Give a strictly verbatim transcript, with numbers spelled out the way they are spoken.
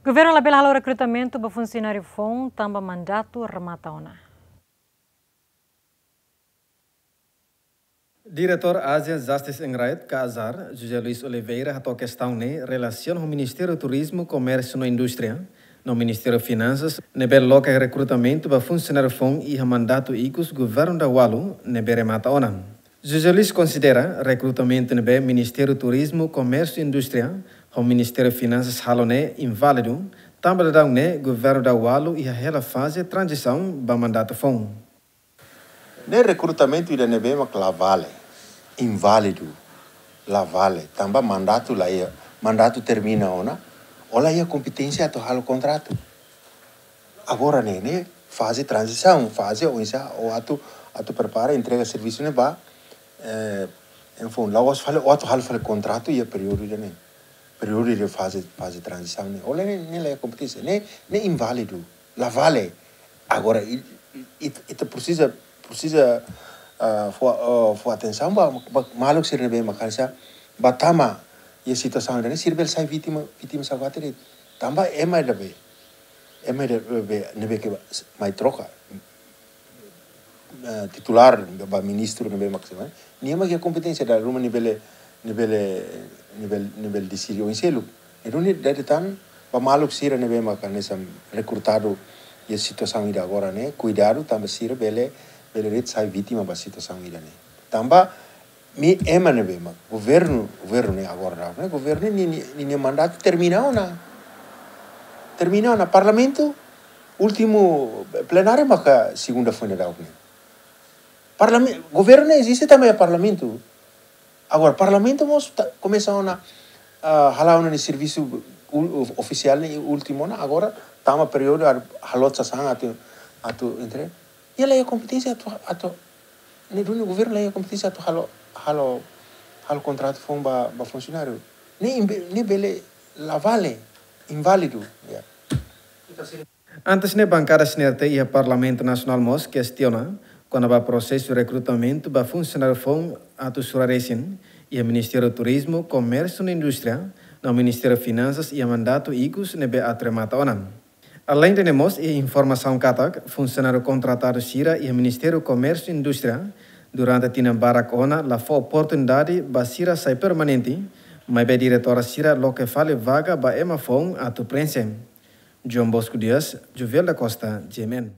Governu labele halo rekrutamentu ba funsionáriu foun tanba mandatu remata ona. Diretór Asian Justice and Rights ka AJAR, José Luís Oliveira hato'o kestaun ne'e relasiona ho Ministériu Turizmu, Komérsiu no Indústria no Ministériu Finansas ne'ebé loke rekrutamentu ba funsionáriu foun iha mandatu ikus governu daudaun ne'ebé remata ona. José Luís konsidera rekrutamentu ne'ebé Ministériu Turizmu, Komérsiu no Indústria ho Ministériu Finansas halo ne'e inválidu, tanba daudaun ne'e governu daudaun iha hela faze tranzisaun ba mandatu foun. Ne'e rekrutamentu ida ne'ebé mak la vale, inválidu, la vale, tanba mandatu la iha, mandatu termina ona, ó la iha kompeténsia atu halo kontratu. Agora ne'e, ne'e faze tranzisaun, faze oinsá ó atu, atu prepara, entrega servisu ne'e ba, eh, enfim, la'ós fali ó atu halo fali kontratu iha períodu ida ne'e. Períodu de faze, faze tranzisaun ne'e. Ó la ne'e, ne'e la iha kompeténsia, ne'e, ne'e inválidu, la vale. Agora, i, i, i, ita presiza, presiza, ah, fó, ah, fó atensaun ba, ba maluk sira ne'ebé mak hanesan, ba tama iha situasaun ida ne'e, sira bele sai vítima, vítima saugati de'it. Tanba ema ida be, ema ida be, ne'ebé ke ba, mai troka, eh, titulár ba ministru ne'ebé mak sira, nia mak iha kompeténsia dala ruma nia bele, nia bele, nia bele, nia bele deside oin seluk. Ne'e duni dada tan ba maluk sira ne'ebé mak hanesan rekrutadu iha situasaun ida agora ne'e, kuidadu tanba sira bele, bele de'it sai vítima ba situasaun ida ne'e. Tanba imi ema ne'ebé mak governu, governu ne'e agora daudaun ne'e, governu ne'e, nia, nia, nia mandatu termina ona. Termina ona. Parlamentu, últimu plenária maka segunda foin daudaun ne'e. Parlamen-, governu ne'e eziste tanba iha parlamentu. Agora, parlamentu mós ta-, komesa ona, ah, hala'o ona nia servisu ul-, of-, ofisiál ne'e últimu ona, agora tama períodu ar-, halo sasán atu, atu entre. Nia la iha kompeténsia atu, atu, ne'e duni governu la iha kompeténsia atu halo, halo, halo kontratu foun ba, ba funsionáriu. Ne'e imbe-, ne'e bele la vale, inválidu, ya. Antes ne'e bankada CNRT iha Parlamentu Nasionál mós kestiona kona-ba prosesu rekrutamentu ba funsionáriu foun atu sura resin iha Ministériu Turizmu, Komérsiu no Indústria no Ministériu Finansas iha mandatu ikus ne'ebé atu remata ona. Aleinde ne'e mós iha informasaun katak funsionáriu kontratadu sira iha Ministériu Komérsiu no Indústria durante tinan barak ona la fó oportunidade ba sira sai permanente, maibé diretór sira loke fali vaga ba ema foun atu preenxe. João Bosco Dias, Jovel da Costa, G M N.